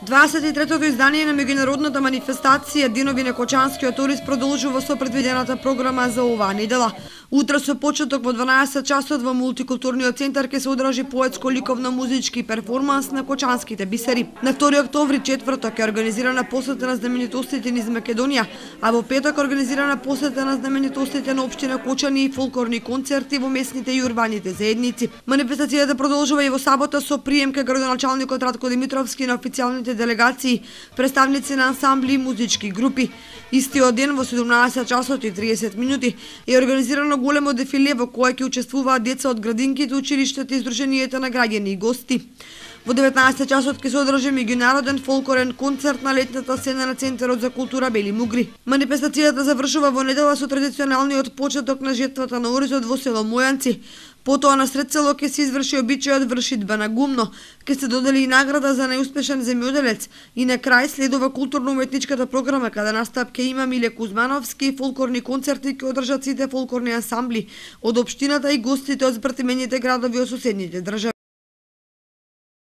23-то издание на меѓународната манифестација Денови на Кочанскиот турист продолжува со предвидената програма за оваа недела. Утре со почеток во 12 часот во мултикултурниот центар ќе се одржи поетско-ликовно-музички перформанс на Кочанските бисери. На 2 октомври, четврток, е организирана посета на знаменитостите низ Македонија, а во петок организирана посета на знаменитостите на општина Кочани и фолклорни концерти во местните и урбаните заедници. Манифестацијата продолжува и во сабота со прием кај градоначалникот Радко Димитровски на официјалните делегации, представници на ансамбли и музички групи. Истиот ден во 17 часот и 30 минути е организирано големо дефиле во кое ќе учествуваат деца од градинките, училиштата и здруженијата на граѓани и гости. Во 19 часот ќе се одржи меѓународен фолклорен концерт на летната сцена на Центарот за култура Бели Мугри. Манифестацијата завршува во недела со традиционалниот почеток на жетвата на оризот во село Мојанци. Потоа на сред село ќе се изврши обичајот вршидба на гумно, ќе се додели и награда за најуспешен земјоделец и на крај следува културно-уметничката програма каде настап ќе има Миле Кузмановски, фолклорни концерти ќе одржат сите фолклорни ансамбли од општината и гостите од збртимените градови од соседните држави.